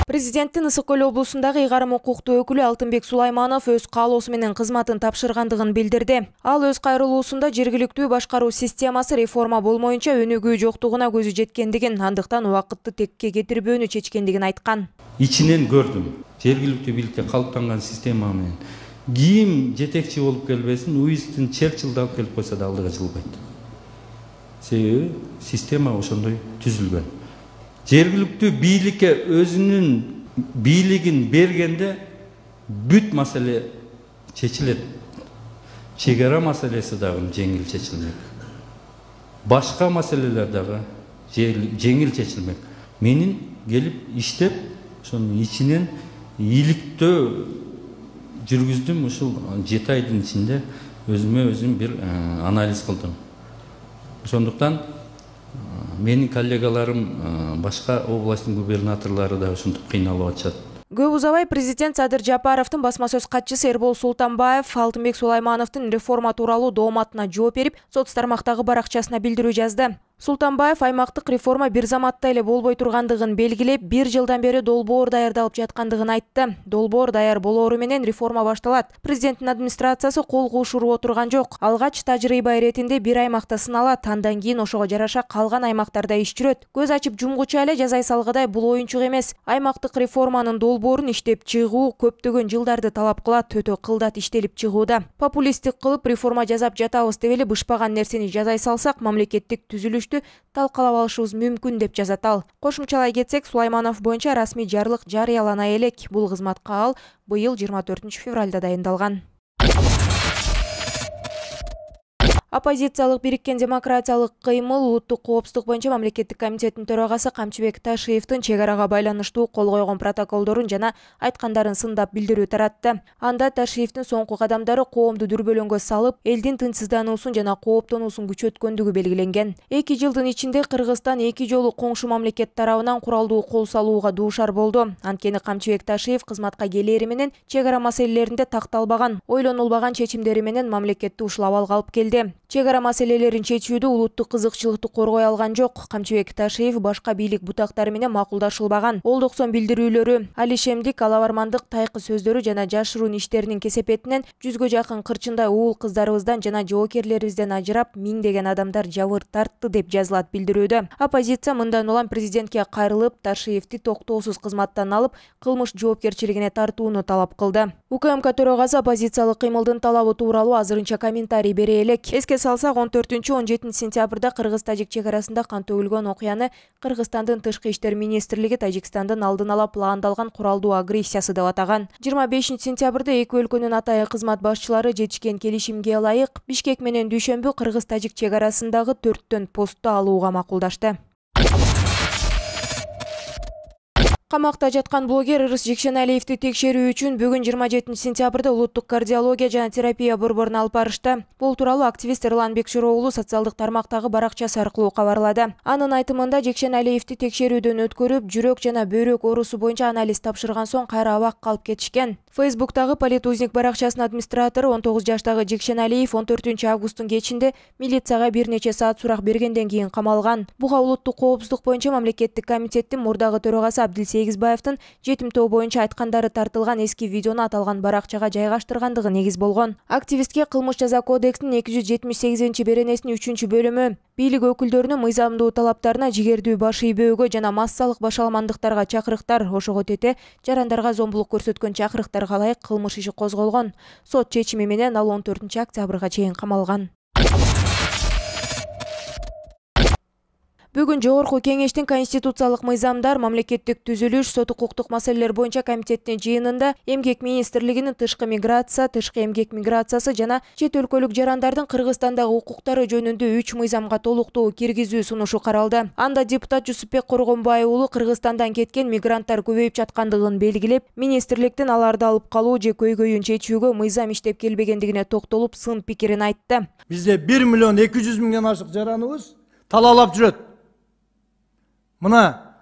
Президенттин Ысык Көл облусундагы ыйгарым укуктуу өкүлү Алтынбек Сулайманов өз каалоосу менен кызматын тапшыргандыгын билдирди. Ал өз кайрылуусунда жергиликтүү башкаруу системасы реформа болмоюнча өнүгүү жоктугуна көзү жеткендигин, андыктан убакытты текке кетирбөөнү чечкендигин айткан. Ичинен көрдүм. Жергиликтүү бийликте калыптанган система менен ким жетекчи болуп келбесин, Уинстон Черчилль алып келип койсо да алдыга жылбайт. Себеби система ошондой түзүлгөн. Жергиликтүү бийликке өзүнүн бийлигин бергенде бүт маселе чечилет. Чегара маселеси дагы жеңил чечилмек. Башка маселелер дагы жеңил чечилмек. Менин келип иштеп, ошонун ичинен ийгиликтөө жүргүздүм. Ушул 7 айдын ичинде өзүмө өзүм бир анализ кылдым. Ошондуктан менин коллегаларым башка областтын губернаторлору да ушинтип кыйналып атышат. Көп узабай президент Садыр Жапаровдун басма сөз катчысы Эрбол Султанбаев Алтынбек Сулаймановдун реформа тууралуу дооматына жооп берип, соц тармактагы баракчасына билдирүү жазды. Султанбаев аймактык реформа бир заматта эле болбой тургандыгын белгилеп, 1 жылдан бери долбоор даярдалып жаткандыгын айтты. Долбоор даяр болоору менен реформа башталат. Президенттин администрациясы кол кушуруп отурган жок. Алгач тажрыйба иретинде бир аймакта сыналат, андан кийин ошого жараша калган аймактарда иш жүрөт. Көз ачып жумгуча эле жазай салгыдай бул оюнчук эмес. Аймактык реформанын долбоорун иштеп чыгуу көптөгөн жылдарды талап кылат, өтө кылдат иштелип чыгууда. Популисттик кылып реформа жасап жатабыз деп эле бышпаган нерсени жазай салсак, мамлекеттик түзүлүш талкалап алышыбыз мүмкүн деп жазат ал. Кошумчалай кетсек, Сулайманов боюнча расмий жарлык жарыялана элек. Бул кызматка ал быйыл 24 февралда дайындалган. Оппозициялык бириккен демократиялык кыймыл улуттук коопсуздук боюнча мамлекеттик комитеттин төрагасы Камчыбек Ташиевдин чек арага байланыштуу кол койгон протоколдорун жана айткандарын сындап билдирүү таратты. Анда Ташиевдин соңку кадамдары коомду дүрбөлөңгө салып, элдин тынчсыздануусун жана кооптонуусун күчөткөндүгү белгиленген. 2 жылдын ичинде Кыргызстан 2 жолу коңшу мамлекет тарабынан куралдуу кол салууга дуушар болду. Анткени Камчыбек Ташиев кызматка келери менен чек ара маселелеринде такталбаган, ойлонулбаган чечимдери менен мамлекетти ушул абалга алып келди. Чек ара маселелерин чечүүдө улуттук кызыкчылыкты коргой алган жок. Камчыбек Ташиев башка бийлик бутактары менен макулдашылбаган. Олдоксон билдирүүлөрү, алишемдик, алабармандык, тайкы сөздөрү жана жашыруун иштеринин кесепетинен 100гө жакын кырчындай уул кыздарыбыздан жана жоокерлерибизден ажырап, миңдеген адамдар жабыр тартты деп жазылат билдирүүдө. Оппозиция мындан улам президентке кайрылып, Ташиевди токтоосуз кызматтан алып, кылмыш жоопкерчилигине тартууну талап кылды. УКМК төрагасы оппозициялык кыймылдын талабы тууралуу азырынча комментарий бере элек. Эске салсак, 14-17 сентябрда Кыргыз-Тажик чек арасында кан төгүлгөн окуяны Кыргызстандын тышкы иштер министрлиги Тажикстандын алдын ала пландалган куралдуу агрессиясы деп атаган. 25 сентябрда эки өлкөнүн атайын кызмат башчылары жетишкен келишимге ылайык Бишкек менен Дүйшөмбү Кыргыз-Тажик чек арасындагы 4 постту алууга макулдашты. Камакта жаткан блогер Ырыс Жекшеналиевди текшерүү үчүн бүгүн 27 сентябрда улуттук кардиология жана терапия борборуна алып барышты. Бул тууралуу активист Эрлан Бекшироğlu социалдык тармактагы баракчасы аркылуу кабарлады. Анын айтымында Жекшеналиевди текшерүүдөн өткөрүп, жүрөк жана бөйрөк оорусу боюнча анализ тапшырган соң кайра абакка алып кетишкен. Фейсбуктагы Политузник баракчасынын администратору 19 жаштагы Жекшеналиев 14 августтун кечинде милицияга бир нече саат сурак бергенден кийин камалган. Буга улуттук коопсуздук боюнча мамлекеттик комитеттин мурдагы төрагасы Абдилсегизбаевдин жетимтөө боюнча айткандары тартылган эски видеону аталган баракчага жайгаштыргандыгы негиз болгон. Активистке кылмыш жаза кодексинин 278-беренесинин 3-бөлүмү бийлик өкүлдөрүнүн мыйзамдуу талаптарына, жигердүү баш ийбөөгө жана массалык башаламандыктарга чакырыктар, ошого тете жарандарга зомбулук көрсөткөн чакырыктарга ылайык кылмыш иши козголгон. Сот чечими менен ал 14 октябрга чейин камалган. Бүгүн Жогорку Кеңештин Конституциялык мыйзамдар, мамлекеттик түзүлүш, сот укуктук маселелер боюнча комитеттин жыйынында Эмгек министрлигинин тышкы миграция, тышкы эмгек миграциясы жана чет өлкөлүк жарандардын Кыргызстандагы укуктары жөнүндө 3 мыйзамга толуктуу киргизүү сунушу каралды. Анда депутат Жусупбек Коргонбай уулу Кыргызстандан кеткен мигранттар көбөйүп жаткандыгын белгилеп, министрликтин аларды алып калуу же көйгөйүн чечүүгө мыйзам иштеп келбегендигине токтолуп, сын пикирин айтты. Бизде 1.200.000 ашык жараныбыз талаалап жүрөт. Мына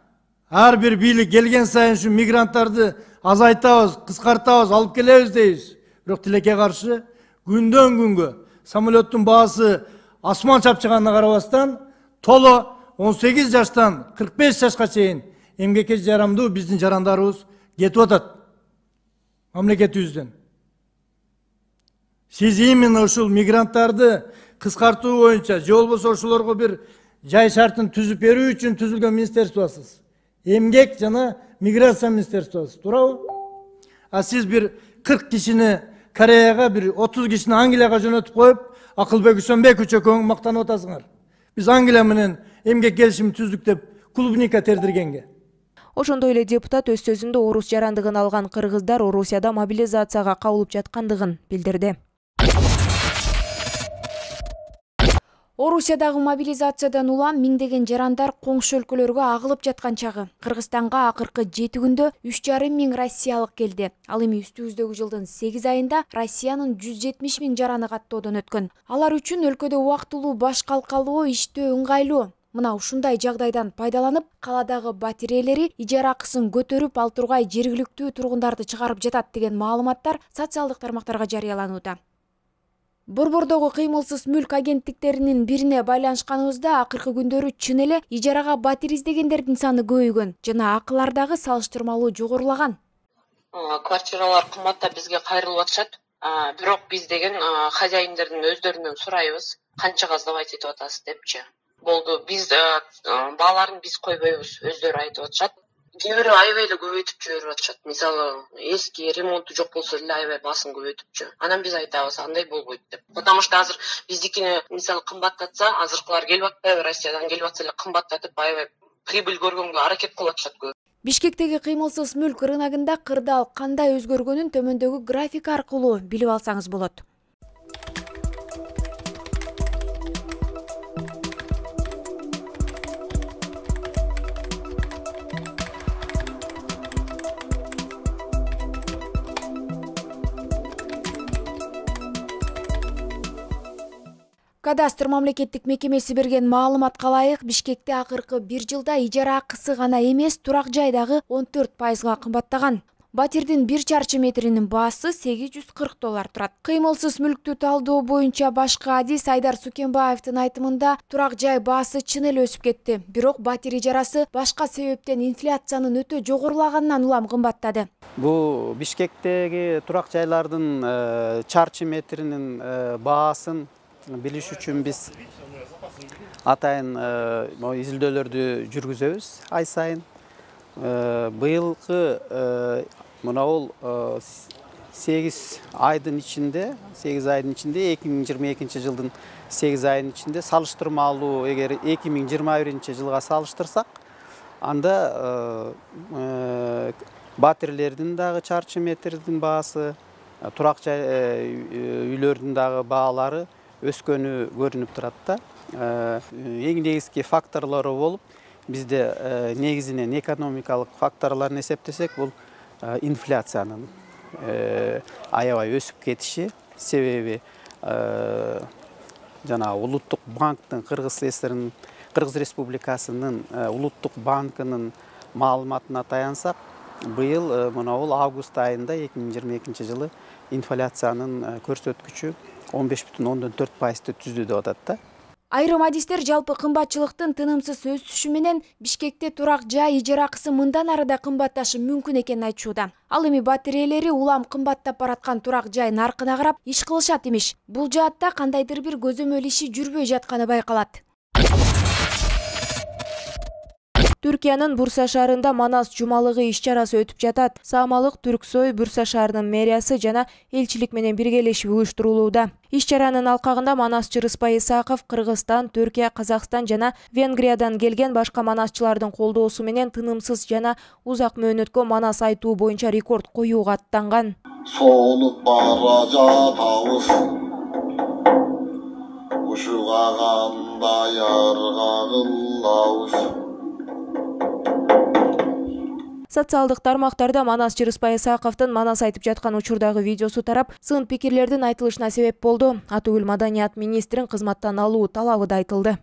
ар бир бийлик келген сайын ушу мигранттарды азайтабыз, кыскартабыз, алып келебиз дейбиз. Бирок тилекке каршы күндөн күнгө самолеттун баасы асман чапчыганына карабастан толо 18 жаштан 45 жашка чейин эмгекке жарамдуу биздин жарандарыбыз кетип атат мамлекетибизден. Сиз именно ушул мигранттарды кыскартуу боюнча же болбосо ошолорго бир жай шартын түзүп берүү үчүн түзүлгөн министерствосуз. Эмгек жана миграция министерствосуз, туурабы? А сиз бир 40 кишини Кореяга, бир 30 кишини Англияга жөнөтүп коюп, Акылбек Үсөнбек чөкөң мактанып атасыңар. Биз Англия менен эмгек келишимин түздүк деп клубника тердиргенге. Ошондой эле депутат өз сөзүндө орус жарандыгын алган кыргыздар Орусияда мобилизацияга кабылып жаткандыгын билдирди. Орусиядагы мобилизациядан улам миңдеген жарандар коңшу өлкөлөргө агылып жаткан чагы. Кыргызстанга акыркы 7 күндө 3,5 миң россиялык келди. Ал эми үстүбүздөгү жылдын 8 айында Россиянын 170 миң жараны каттоодон өткөн. Алар үчүн өлкөдө убактылуу баш калкалоо иштөө ыңгайлуу. Мына ушундай жагдайдан пайдаланып, каладагы батирейлери ижара акысын көтөрүп ал тургай жергиликтүү тургундарды чыгарып жатат деген маалыматтар социалдык тармактарга жарыяланууда. Борбордогу кыймылсыз мүлк агенттиктеринин бирине байланышканыбызда акыркы күндөрү чын эле ижарага батир издегендердин саны көбөйгөн жана акылар дагы салыштырмалуу жогорулаган. Квартиралар кымбаттап бизге кайрылып атышат. Бирок биз деген хозяиндердин өздөрүнөн сурайбыз, канчага сдавать этип атасыз депчи. Болду, биз бааларын биз койбойбуз, өздөрү айтып атышат. Кээ бирөө аябай эле көбөйтүп жиберип атышат. Мисалы, эски ремонту жок болсо деле аябай баасын көбөйтүпчү. Анан биз айтабыз, андай болбойт деп. Потому что азыр биздикини мисалы кымбаттатса, азыркылар келип атпайбы, Россиядан келип атса эле кымбаттатып, аябай прибыль көргөнгө аракет кылып атышат көп. Бишкектеги кыймылсыз мүлк рыногунда кырдаал кандай өзгөргөнүн төмөндөгү график аркылуу билип алсаңыз болот. Кадастр мамлекеттик мекемеси берген маалыматка ылайык, Бишкекте акыркы 1 жылда ижара акысы гана эмес, турак жайдагы 14% кымбаттаган. Батирдин 1 чарчы метринин баасы $840 турат. Кыймылсыз мүлктү талдоо боюнча башкы адис Айдар Сукенбаевдин айтымында турак жай баасы чын эле өсүп кетти. Бирок батир ижарасы башка себептен инфляциянын өтө жогорулаганынан улам кымбаттады. Бул Бишкектеги турак жайлардын чарчы метринин баасын билиш үчүн биз атайын изилдөөлөрдү жүргүзөбүз ай сайын. Быйылкы мынабул 8 айдын ичинде 2022 жылдын 8 айдын ичинде салыштырмалуу, эгер 2021 жылга салыштырсак, анда батирлердин дагы чарчы метрдин баасы, турак жай үйлөрдүн дагы баалары өскөнү көрүнүп турат да. Эң негизги факторлору болуп, бизде негизинен экономикалык факторлорун эсептесек, бул инфляциянын аябай өсүп кетиши, себеби жана Улуттук банктын Кыргыз Республикасынын Улуттук банкынын маалыматына таянсак, быйыл мынабул август айында 2022 жылы инфляциянын көрсөткүчү 15,4% түздү деп атат да. Айрым адистер жалпы кымбатчылыктын тынымсыз өсүшү менен Бишкекте турак жай ижара акысы мындан ары да кымбатташы мүмкүн экенин айтышууда. Ал эми батирейлери улам кымбаттап бараткан турак жай наркына карап иш кылышат имиш. Бул жаатта кандайдыр бир көзөмөл иши жүрбөй жатканы байкалат. Түркиянын Бурса шаарында Манас жумалыгы иш-чарасы өтүп жатат. Саамалык Түрксой Бурса шаарынын мэриясы жана элчилик менен биргелешип уюштурулууда. Иш-чаранын алкагында манасчы Рыспай Исаков Кыргызстан, Түркия, Казакстан жана Венгриядан келген башка манасчылардын колдоосу менен тынымсыз жана узак мөөнөткө манас айтуу боюнча рекорд коюуга аттанган. Соолуп бара жатабыз, ушугагандай аргагылабыз. Социалдык тармактарда манасчы Рыспай Исаковдун манас айтып жаткан учурдагы видеосу тарап, сын пикирлердин айтылышына себеп болду. Атүгүл маданият министрин кызматтан алуу талабы да айтылды.